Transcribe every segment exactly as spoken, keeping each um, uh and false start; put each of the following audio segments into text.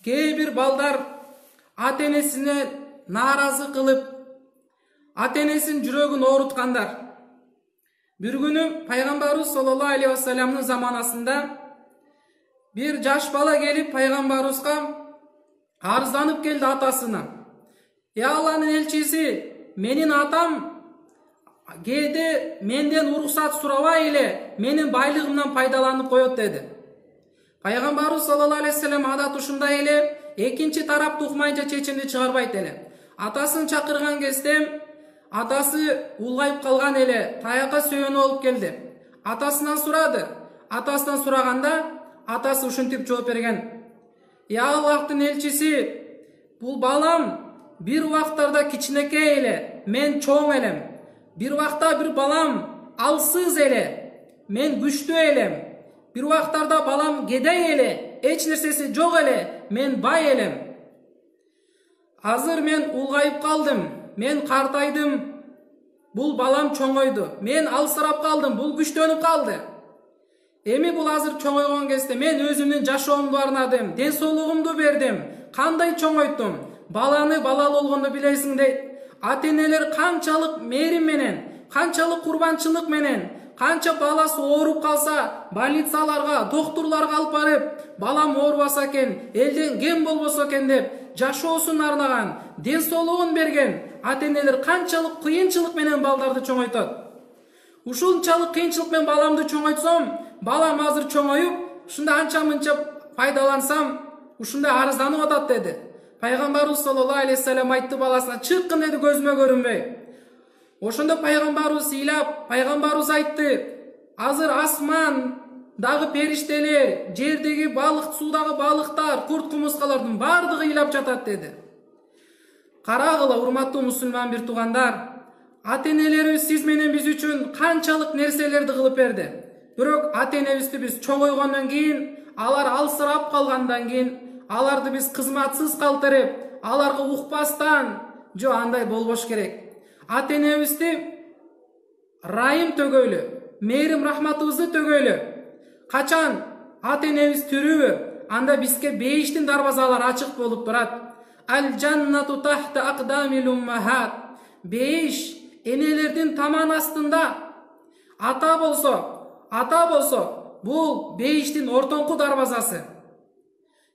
Кээ бир балдар ата энесине нааразы кылып, ата энесинин жүрөгүн ооруткандар. Бир күнү пайгамбарыбыз саллаллаху алейхи вассаламдын заманасында бир жаш бала келип пайгамбарыбызга арызданып келди атасына. Ey Алланын элчиси, менин атам кээде менден уруксат сурабай эле менин байлыгымдан пайдаланып коет деди. Пайгамбарыбыз саллаллаху алейхи вассалам адат ушундай эле, экинчи тарапты укмайынча чечимди чыгарбайт эле. Атасын чакырган кезде атасы улгайып калган эле, таякка сөөнүп алып келди. Атасынан сурады. Атасынан сураганда атасы ушинтип жооп берген. Ey Аллахтын элчиси, бул балам бир убактарда кичинекей эле, мен чоң элем. Бир убакта бир балам алсыз эле, мен күчтүү элем. Бир убактарда балам кедей эле, эч нерсеси жок эле, мен бай элем. Азыр мен улгайып калдым, мен картайдым, бул балам чоңойду. Мен алсырап калдым, бул күчтөнүп калды. Эми бул азыр чоңойгон кезде мен өзүмдүн жашоомду арнадым, ден соолугумду бердим, кандай чоңойттум. Баланы балалы болгондо билесиң дейт. Ата энелер канчалык мээрим менен, канчалык курбанчылык менен, канча баласы ооруп калса, больницаларга, доктурларга алып барып, балам оорубаса экен, элден кем болбосо экен деп жашоосун арнаган, ден соолугун берген ата энелер канчалык кыйынчылык менен балдарды чоңойтот. Ушунчалык кыйынчылык менен баламды чоңойтсом, балам азыр чоңоюп, ушунда анча-мынча пайдалансам, ушундай арызданып атат деди. Пайгамбарыбыз саллаллаху алейхи вассалам айтты баласына, чыккын деди, көзүмө көрүнбөй. Ошондо пайгамбарыбыз ыйлап, пайгамбарыбыз айтты, азыр асмандагы периштелер, жердеги балык, суудагы балыктар, курт кумурскалардын бардыгы ыйлап жатат деди. Карагыла, урматтуу мусулман бир туугандар, ата энелерибиз сиз менен биз үчүн канчалык нерселерди кылып берди. Бирок ата энебизди биз чоңойгондон кийин, алар алсырап калгандан кийин, аларды биз кызматсыз калтырып, аларга укпастан, жо андай болбош керек. Ата энебизди райым төгөйлү, мээрим рахматыбызды төгөйлү. Качан ата энебиз тирүүбү, анда бизге бейиштин дарбазалары ачык болуп турат. Ал жаннату тахта акдамил уммахат. Бейиш энелердин таман астында. Ата болсо, ата болсо, бул бейиштин ортоңку дарбазасы.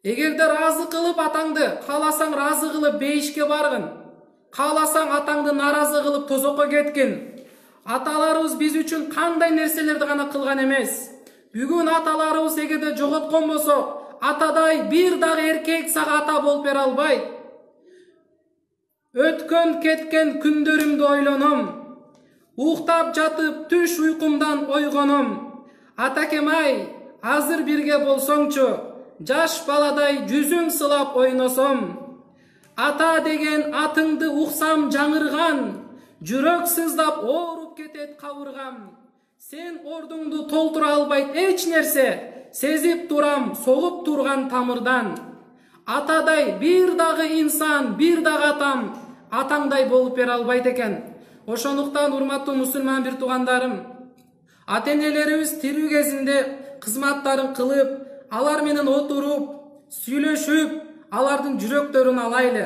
Эгерде разы кылып атаңды, кааласаң разы кылып бейишке баргын. Кааласаң атаңды наразы кылып тозокко кеткин. Аталарыбыз биз үчүн кандай нерселерди гана кылган эмес. Бүгүн аталарыбыз эгерде жоготкон болсо, атадай бир дагы эркек сага ата болуп бере албайт. Өткөн кеткен күндөрүмдү ойлоном, уктап жатып түш уйкумдан ойгоном. Атакем ай, азыр бирге болсоңчу, жаш баладай жүзүң сылап ойносом. Ата деген атыңды уксам жаңырган, жүрөк сыздап ооруп кетет кабыргам. Сен ордуңду толтура албайт эч нерсе, сезип турам согуп турган тамырдан. Атадай бир дагы инсан, бир дагы атам, атаңдай болуп бере албайт экен. Ошондуктан урматтуу мусулман бир туугандарым, ата энелерибиз тирүү кезинде кызматтарын кылып, алар менен отуруп, сүйлөшүп, алардын жүрөктөрүн алайлы.